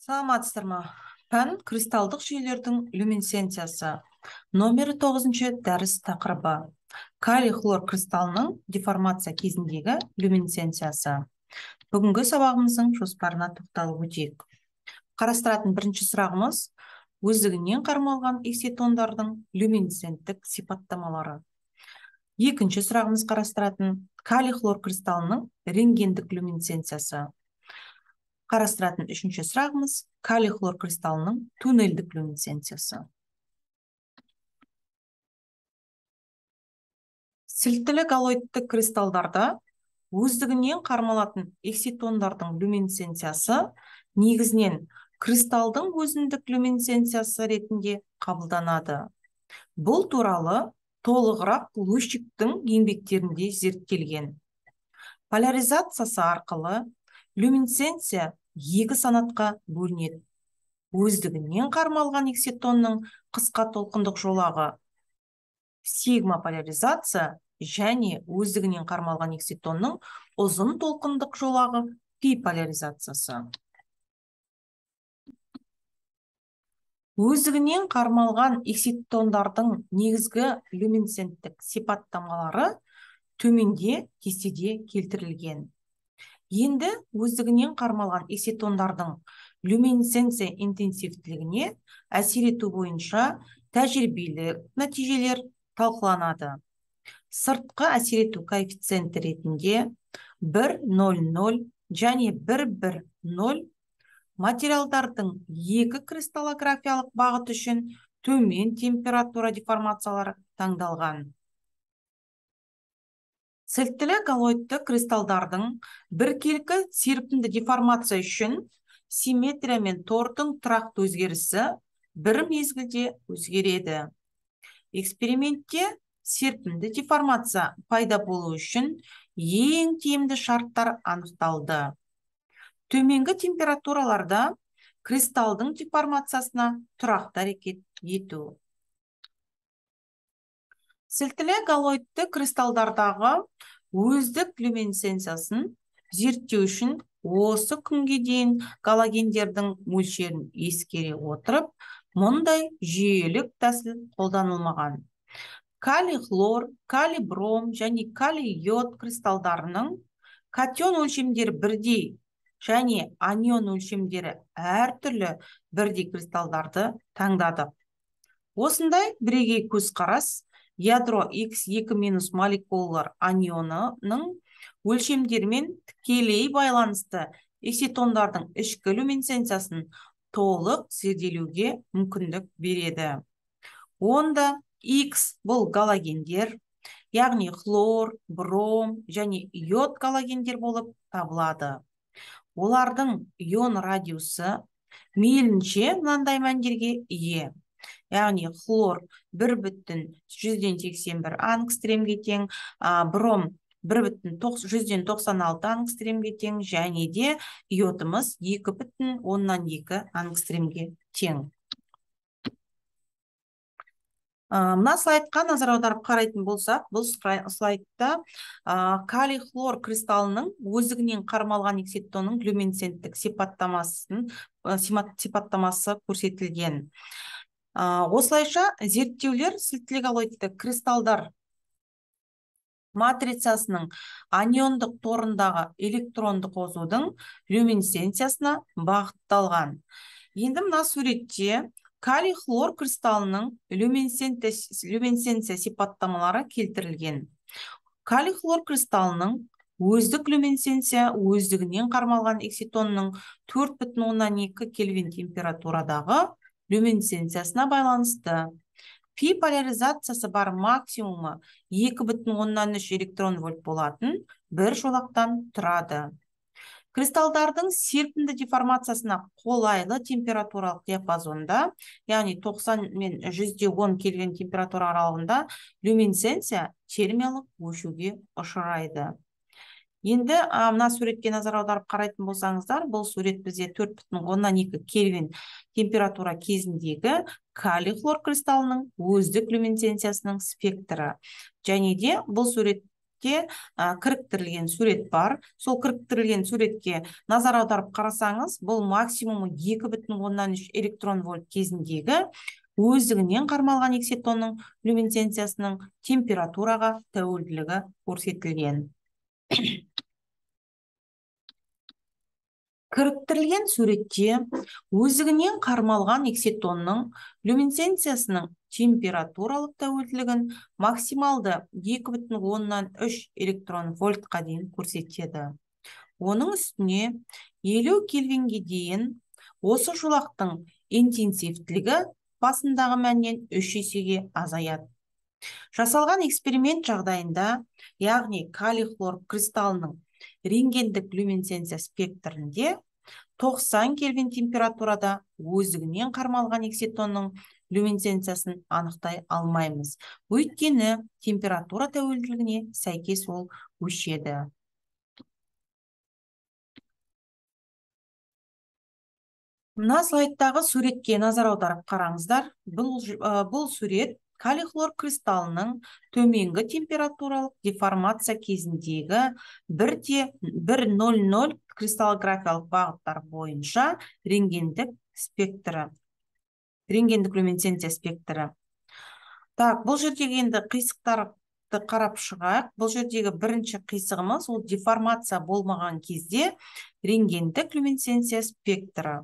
Саламатсыздар ма? Пән кристалдық жүйелердің люминесценциясы. Номері 9-шы дәріс тақырыбы. Калий хлор кристаллының деформация кезіндегі люминесценциясы. Бүгінгі сабағымыздың жоспарына тоқталып өтейік. Қарастыратын бірінші сұрағымыз өздігінен қармалған экситондардың люминесценттік сипаттамалары. Екінші сұрағымыз қарастыратын калий хлор кристаллының рентгендік люминесценциясы. Қарастыратын үшінші сұрағымыз калий хлор кристаллының туннельдік люминесценциясы. Сілтілі галоидты кристалдарда өздігінен қармалатын экситондардың люминесценциясы негізінен кристалдың өзіндік люминесценциясы ретінде қабылданады. Бұл туралы толығырақ Лущиктің еңбектерінде зерттелген. Поляризациясы арқылы люминесценция екі санатқа бөлінеді. Өздігінен қармалған экситонның қысқа толқындық жолағы сигма поляризация және өздігінен қармалған экситонның ұзын толқындық жолағы пи поляризациясы. Өздігінен қармалған экситондардың негізгі люминесценттік сипаттамалары төменде кестеде келтірілген. Енді өздігінен қармалған экситондардың люминесценция интенсивтілігіне әсер ету бойынша тәжірибелік нәтижелер талқыланады. Сыртқы әсер ету коэффициенті ретінде 1,00 және 1,10 материалдардың екі кристаллографиялық бағыт үшін төмен температура деформациялары таңдалған. Сілтілі галоидты кристалдардың біркелкі серпінді деформация үшін симметрия мен тордың тұрақты өзгерісі бір мезгілде өзгереді. Экспериментте серпінді деформация пайда болу үшін ең тиімді шарттар анықталды. Төменгі температураларда кристалдың деформациясына тұрақты әрекет ету. Сілтілі галоидты кристалдардағы өздік люминесценциясын зерттеу үшін осы күнге дейін галогендердің мөлшерін ескере отырып, мұндай жүйелік тәсіл қолданылмаған. Калий хлор, калий бром және калий йод кристалдарының катион өлшемдері бірдей және анион өлшемдері әртүрлі бірдей кристалдарды таңдадық. Осындай бірегей көзқарас ядро X2- молекулалар анионының өлшемдерімен тікелей байланысты экситондардың ішкі люминесценциясын толық зерделеуге мүмкіндік береді. Онда X бұл галогендер, яғни хлор, бром және йод галогендер болып табылады. Олардың ион радиусы мейлінше мынандай мәндерге ие. Яғни хлор 1,181 ангстремге тең, бром 1,196 ангстремге тең және де йодымыз 2,2 ангстремге тең. Мына слайдқа назар аударып қарайтын болсақ, бұл слайдта калий хлор кристаллының өздігінен қармалған экситонның люминесценттік сипаттамасы көрсетілген. Осылайша зерттеулер сілтілі галоидты кристалдар матрицасының аниондық торындағы электронды қосудың люминесценциясына бағытталған. Енді мына суретте калий хлор кристаллының люминесценция сипаттамалары келтірілген. Калий хлор кристаллының өздік люминесценция өздігінен қармалған экситонның 4,2 кельвин температурадағы люминесценциясына байланысты. Пи поляризациясы бар максимумы 2,3 электрон вольт болатын бір жолақтан тұрады. Кристалдардың серпінді деформациясына қолайлы температуралық диапазонда, яғни 90 мен 110 кельвин температура аралығында люминесценция термиялық өшуге ұшырайды. Енді мына суретке назар аударып қарайтын болсаңыздар, бұл сурет бізде 4,2 кельвин температура кезіндегі калий хлор кристаллының өздік люминесценциясының спектрі. Және де бұл сурет суретте кіріктірілген сурет бар. Сол кіріктірілген суретке назар аударып қарасаңыз, бұл максимумы 2,3 электрон вольт кезіндегі өздігінен қармалған экситонның люминесценциясының температураға тәуелділігі көрсетілген. Кіріктірілген суретте өздігінен қармалған экситонның люминесценциясының температуралық тәуелділігін максималды 2,3 электрон вольтқа дейін көрсетеді. Оның үстіне 50 кельвинге дейін осы жолақтың интенсивтілігі басындағы мәннен 3 есеге азаяды. Жасалған эксперимент жағдайында, яғни калий хлор кристаллының рентгендік люминесценция спектрінде 90 кельвин температурада өздігінен қармалған экситонның люминесценциясын анықтай алмаймыз. Өйткені температура тәуелділігіне сәйкес ол өшеді. Мына слайдтағы суретке назар аударып қараңыздар. Бұл сурет калий хлор кристаллының төменгі температуралық деформация кезіндегі 1,00 кристаллографиялық бағыттар бойынша рентгендік люминесценция спектрі. Бұл жердегі енді қисықтарды қарап шығайық. Бұл жердегі бірінші қисығымыз ол деформация болмаған кезде рентгендік люминесценция спектрі.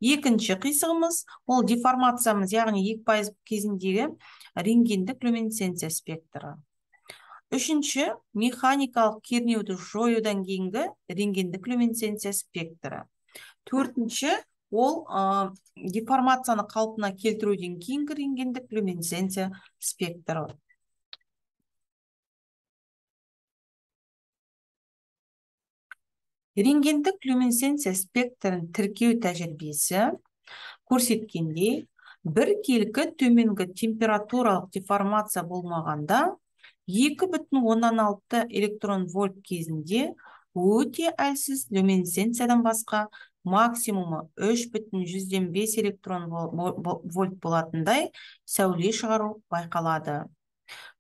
Екінші қисығымыз ол деформациямыз, яғни 2% кезіндегі рентгендік люминесценция спектрі. Үшінші механикалық кернеуді жоюдан кейінгі рентгендік люминесценция спектрі. Төртінші ол деформацияны қалпына келтіруден кейінгі рентгендік люминесценция спектрі. Рентгендік люминесценция спектрін тіркеу тәжірибесі көрсеткенде, біркелкі төменгі температуралық деформация болмағанда 2,6 электрон вольт кезінде өте әлсіз люминесценциядан басқа максимумы 3,5 электрон вольт болатындай сәуле шығару байқалады.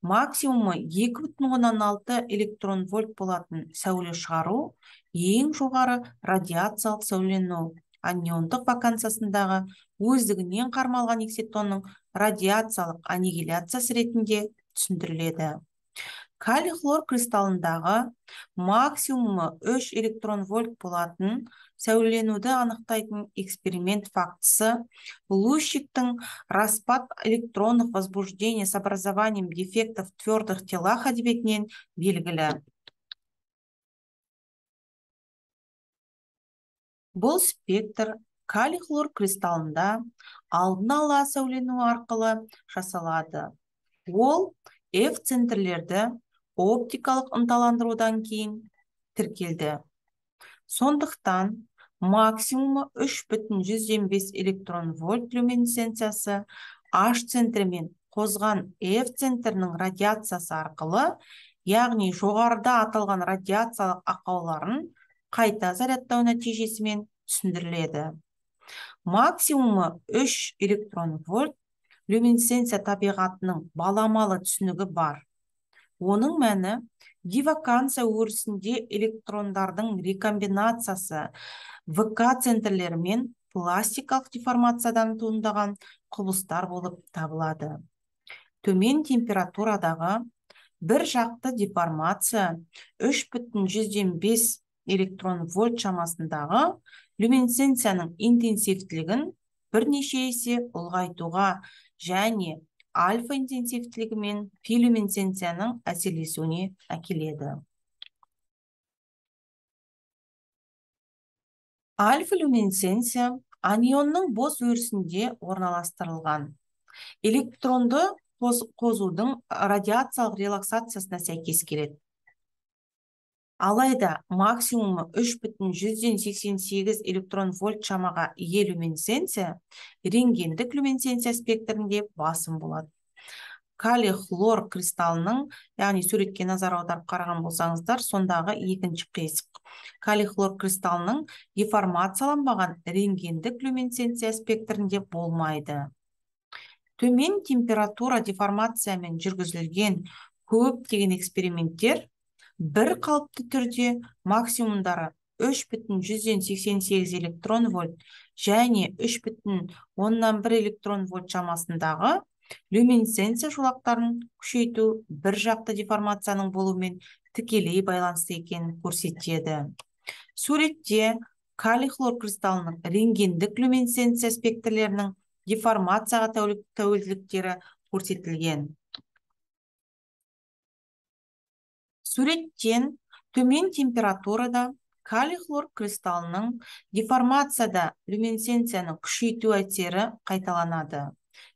Максимумы 2,6 электрон вольт болатын сәуле шығару ең жоғары радиациялық сәулену аниондық вакансиясындағы өздігінен қармалған экситонның радиациялық аннигиляциясы ретінде түсіндіріледі. Калий хлор кристаллындағы максимумы 3 электрон вольт болатын сәуленуді анықтайтын эксперимент фактісі лущиктің распад электронных возбуждений с образованием дефектов в твердых телах әдебиетінен белгілі. Бұл спектр калий хлор кристаллында алдын ала сәулену арқылы жасалады. Ол F центрлерді оптикалық ынталандырудан кейін тіркелді. Сондықтан максимумы 3,5 электрон вольт люминесценциясы H центрімен қозған F центрінің радиациясы арқылы, яғни жоғарыда аталған радиациялық ақауларын қайта зарядтау нәтижесімен түсіндіріледі. Максимумы 3 электрон вольт люминесценция табиғатының баламалы түсінігі бар. Оның мәні дивакансия өрісінде электрондардың рекомбинациясы ВК центрлерімен пластикалық деформациядан туындаған құбылыстар болып табылады. Төмен температурадағы бір жақты деформация 3,5 электрон вольт шамасындағы люминесценцияның интенсивтілігін бірнеше есе ұлғайтуға және альфа интенсивтілігі мен пи люминесценцияның әсерлесуіне әкеледі. Альфа люминесценция анионның бос өрісінде орналастырылған. Электронды қозудың радиациялық релаксациясына сәйкес келеді. Алайда максимумы 3,188 электрон вольт шамаға ие люминесценция рентгендік люминесценция спектрінде басым болады. Калий хлор кристаллының, яғни суретке назар аударып қараған болсаңыздар, сондағы екінші қисық. Калий хлор кристаллының деформацияланбаған рентгендік люминесценция спектрінде болмайды. Төмен температура деформациямен жүргізілген көптеген эксперименттер бір қалыпты түрде максимумдары 3,188 электрон вольт және 3,1 электрон вольт шамасындағы люминесценция жолақтарын күшейту бір жақты деформацияның болуымен тікелей байланысты екенін көрсетеді. Суретте калий хлор кристаллының рентгендік люминесценция спектрлерінің деформацияға тәуелділіктері көрсетілген. Суреттен төмен температурада калий хлор кристаллының деформацияда люминесценцияның күшейту әсері қайталанады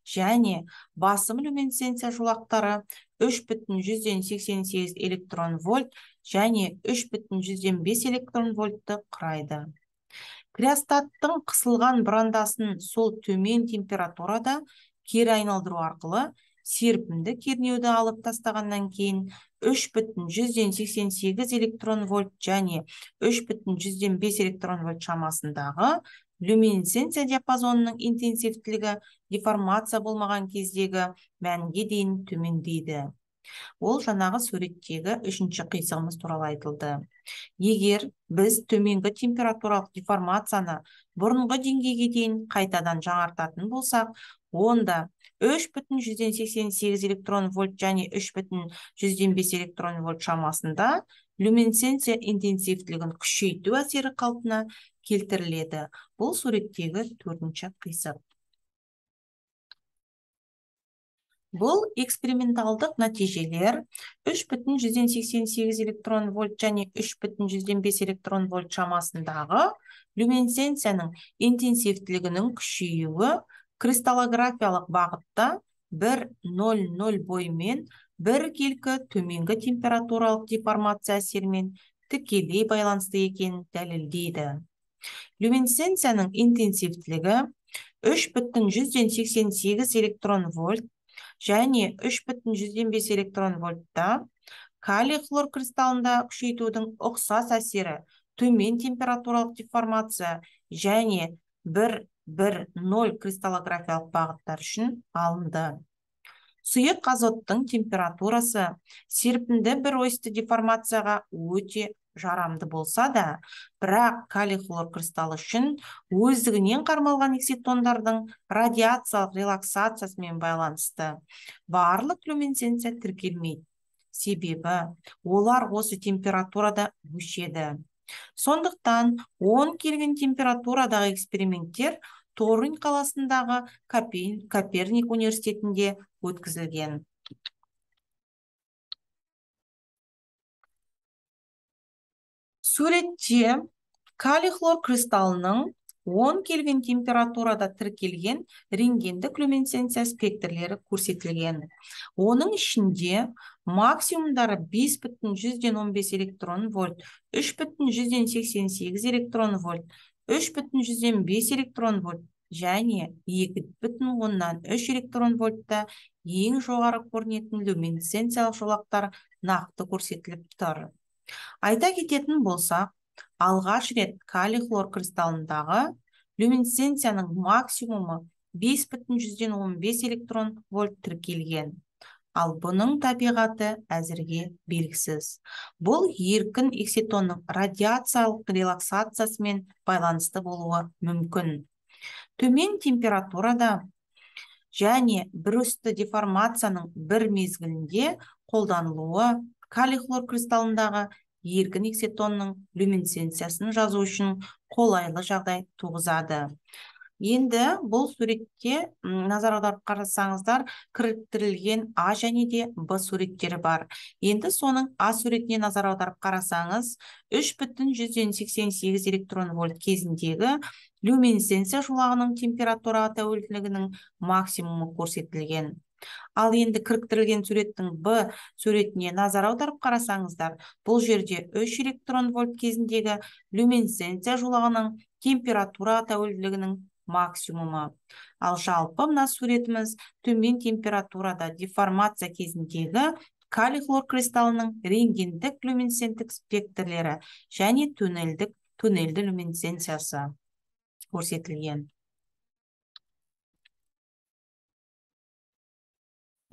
және басым люминесценция жолақтары 3,188 электрон вольт және 3,105 электрон вольтты құрайды. Криостаттың қысылған бұрандасын сол төмен температурада кері айналдыру арқылы серпімді кернеуді алып тастағаннан кейін 3,188 электрон вольт және 3,105 электрон вольт шамасындағы люминесценция диапазонының интенсивтілігі деформация болмаған кездегі мәнге дейін төмендейді. Ол жаңағы суреттегі үшінші қисығымыз туралы айтылды. Егер біз төменгі температуралық деформацияны бұрынғы деңгейге дейін қайтадан жаңартатын болсақ, онда 3,188 электрон вольт және 3,105 электрон вольт шамасында люминесценция интенсивтілігін күшейту әсері қалпына келтіріледі. Бұл суреттегі төртінші қисық. Бұл эксперименталдық нәтижелер 3,188 электрон вольт және 3,105 электрон вольт шамасындағы люминесценцияның интенсивтілігінің күшеюі кристаллографиялық бағытта 1,00 бойымен біркелкі төменгі температуралық деформация әсерімен тікелей байланысты екенін дәлелдейді. Люминесценцияның интенсивтілігі 3,188 электрон вольт және 3,105 электрон вольтта калий хлор кристаллында күшейтудің ұқсас әсері төмен температуралық деформация және 1,0 кристаллографиялық бағыттар үшін алынды. Сұйық азоттың температурасы серпінді бір осьті деформацияға өте жарамды болса да, бірақ калий хлор кристаллы үшін өздігінен қармалған экситондардың радиациялық релаксациясымен байланысты барлық люминесценция тіркелмейді. Себебі олар осы температурада өшеді. Сондықтан 10 кельвин температурадағы эксперименттер Торунь қаласындағы Коперник университетінде өткізілген. Суретте калий хлор кристаллының 10 кельвин температурада тіркелген рентгендік люминесценция спектрлері көрсетілген. Оның ішінде максимумдары 5,115 электрон вольт, 3,188 электрон вольт, 3,105 электрон вольт және 2,3 электрон вольтта ең жоғары көрінетін люминесценциялық жолақтар нақты көрсетіліп тұр. Айта кететін болсақ, алғаш рет калий хлор кристаллындағы люминесценцияның максимумы 5,115 электрон вольт тіркелген. Ал бұның табиғаты әзірге белгісіз. Бұл еркін экситонның радиациялық релаксациясымен байланысты болуы мүмкін. Төмен температурада және бір осьті деформацияның бір мезгілінде қолданылуы калий хлор кристаллындағы еркін экситонның люминесценциясын жазу үшін қолайлы жағдай туғызады. Енді бұл суретте назар аударып қарасаңыздар, кіріктірілген А және де Б суреттері бар. Енді соның А суретіне назар аударып қарасаңыз, 3,188 электрон вольт кезіндегі люминесценция жолағының температура тәуелділігінің максимумы көрсетілген. Ал енді кіріктірілген суреттің Б суретіне назар аударып қарасаңыздар, бұл жерде 3 электрон вольт кезіндегі люминесценция жолағының температура тәуелділігінің максимумы. Ал жалпы мына суретіміз төмен температурада деформация кезіндегі калий хлор кристаллының рентгендік люминесценттік спектрлері және туннельді люминесценциясы көрсетілген.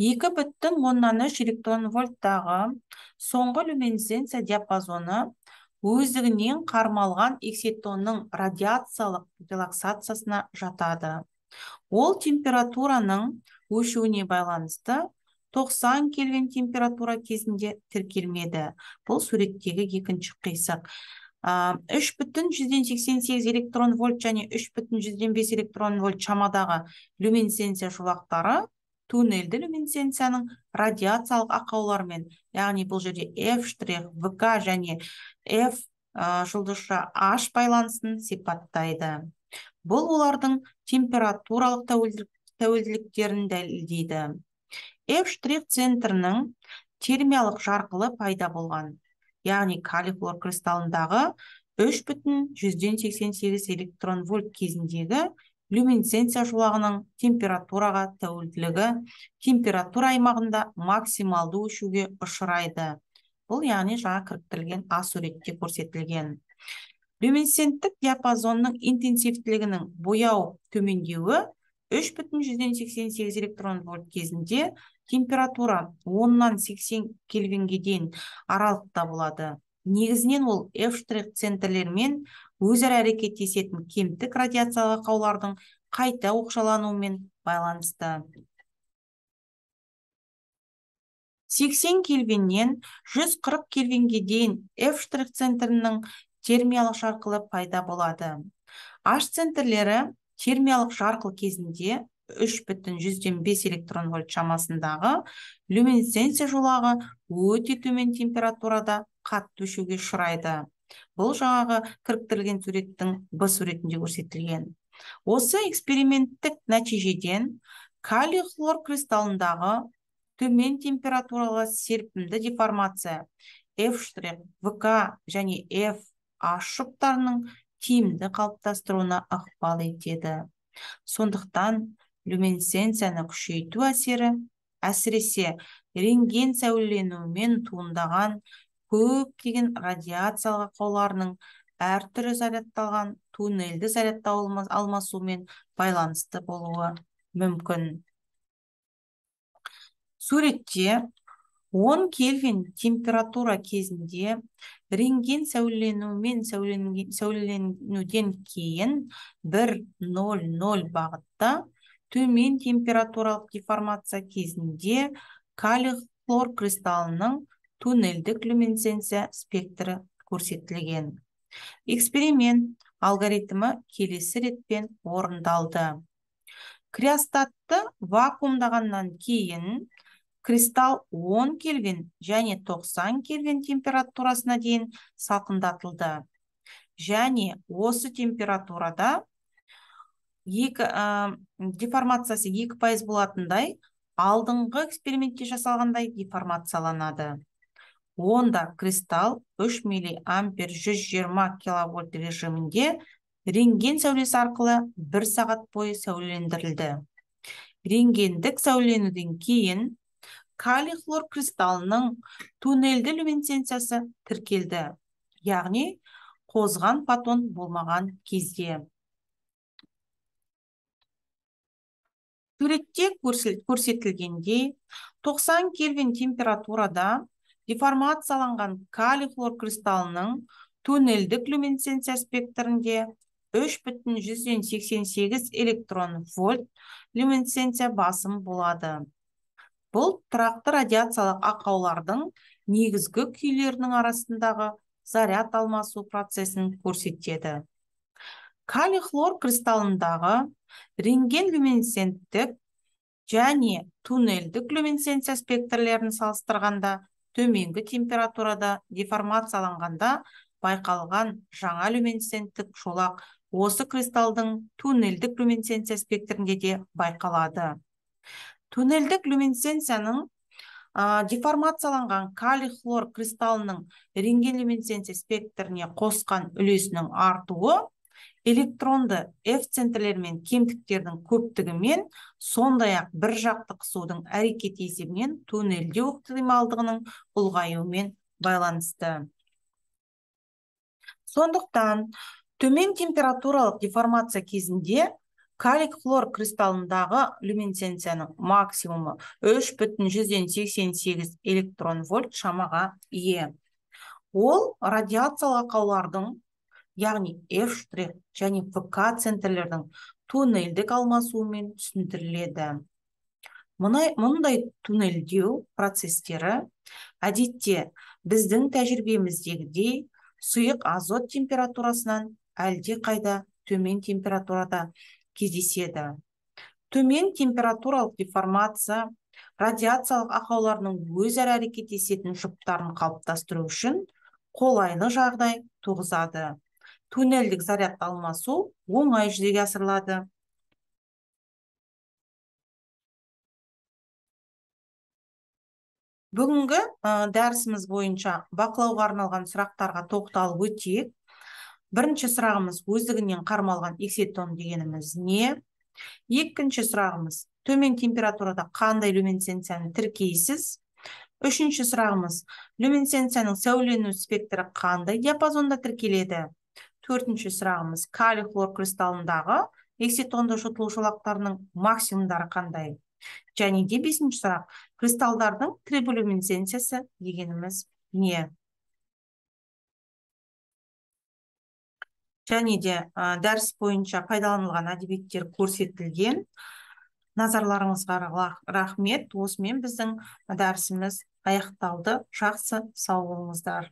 2,3 электрон вольттағы соңғы люминесценция диапазоны өздігінен қармалған экситонның радиациялық релаксациясына жатады. Ол температураның өшуіне байланысты 90 кельвин температура кезінде тіркелмеді. Бұл суреттегі екінші қисық. 3,88 электрон вольт және 3,5 электрон вольт шамадағы люминесценция жолақтары туннельді люминесценцияның радиациялық ақауларымен, яғни бұл жерде F', ВК және F жұлдызша H байланысын сипаттайды. Бұл олардың температуралық тәуелділіктерін дәлелдейді. F' центрінің термиялық жарқылы пайда болған, яғни калий хлор кристаллындағы 3,88 электрон вольт кезіндегі люминесценция жолағының температураға тәуелділігі температура аймағында максималды өшуге ұшырайды. Бұл яғни жаңа кіріктірілген А суретте көрсетілген. Люминесценттік диапазонның интенсивтілігінің бояу төмендеуі 3,88 электрон вольт кезінде температура 10-нан 80 кельвинге дейін аралықта болады. Негізінен ол F' центрлермен өзара әрекеттесетін кемтік радиациялық ақаулардың қайта оқшалануымен байланысты. 80 кельвиннен 140 кельвинге дейін F' центрінің термиялық жарқылы пайда болады. H центрлері термиялық жарқыл кезінде 3,5 электрон вольт шамасындағы люминесценция жолағы өте төмен температурада қатты өшуге ұшырайды. Бұл жаңағы кіріктірілген суреттің Б суретінде көрсетілген. Осы эксперименттік нәтижеден калий хлор кристаллындағы төмен температуралы серпімді деформация F', ВК және F' жұптарының тиімді қалыптастыруына ықпал етеді. Сондықтан люминесценцияны күшейту әсіресе рентген сәулеленуімен туындаған көптеген радиациялық ақауларының әртүрлі зарядталған туннельді зарядтау алмасуымен байланысты болуы мүмкін. Суретте 10 кельвин температура кезінде рентген сәулеленуден кейін 1,00 бағытта төмен температуралық деформация кезінде калий хлор кристаллының туннельдік люминесценция спектрі көрсетілген. Эксперимент алгоритмі келесі ретпен орындалды. Криостатты вакуумдағаннан кейін кристалл 10 кельвин және 90 кельвин температурасына дейін салқындатылды. Және осы температурада деформациясы 2% болатындай, алдыңғы экспериментте жасалғандай деформацияланады. Онда кристалл 3 миллиампер 120 киловольт режимінде рентген сәулесі арқылы 1 сағат бойы сәулелендірілді. Рентгендік сәулеленуден кейін калий хлор кристаллының туннельді люминесценциясы тіркелді, яғни қозған фотон болмаған кезде. Суретте көрсетілгендей, 90 кельвин температурада деформацияланған калий хлор кристаллының туннельдік люминесценция спектрінде 3,188 электрон вольт люминесценция басым болады. Бұл тұрақты радиациялық ақаулардың негізгі күйлерінің арасындағы заряд алмасу процесін көрсетеді. Калий хлор кристаллындағы рентген люминесценттік және туннельдік люминесценция спектрлерін салыстырғанда төменгі температурада деформацияланғанда байқалған жаңа люминесценттік жолақ осы кристалдың туннельдік люминесценция спектрінде де байқалады. Туннельдік люминесценцияның деформацияланған калий хлор кристаллының рентген люминесценция спектріне қосқан үлесінің артуы электронды F центрлермен кемтіктердің көптігімен, сондай-ақ бір жақты қысудың әрекет есебінен туннельдеу ықтималдығының ұлғаюымен байланысты. Сондықтан төмен температуралық деформация кезінде калий хлор кристаллындағы люминесценцияның максимумы 3,88 электрон вольт шамаға ие. Ол радиациялық ақаулардың, яғни F' және ВК центрлердің туннельдік алмасуымен түсіндіріледі. Мұндай туннельдеу процестері әдетте біздің тәжірибеміздегідей сұйық азот температурасынан әлде қайда төмен температурада кездеседі. Төмен температуралық деформация радиациялық ақауларының өзара әрекеттесетін жұптарын қалыптастыру үшін қолайлы жағдай туғызады. Туннельдік заряд алмасу оңай жүзеге асырылады. Бүгінгі дәрісіміз бойынша бақылауға арналған сұрақтарға тоқталып өтейік. Бірінші сұрағымыз өздігінен қармалған эксетон дегеніміз не? Екінші сұрағымыз төмен температурада қандай люминесценцияны тіркейсіз? Үшінші сұрағымыз люминесценцияның сәулену спектрі қандай диапазонда тіркеледі? Төртінші сұрағымыз калий хлор кристаллындағы эксетонды жұтылу жолақтарының максимумдары қандай? Және де бесінші сұрақ, кристалдардың триболюминесценциясы дегеніміз не? Және де дәріс бойынша пайдаланылған әдебиеттер көрсетілген. Назарларыңызға рахмет. Осымен біздің дәрісіміз аяқталды. Жақсы, сау болыңыздар.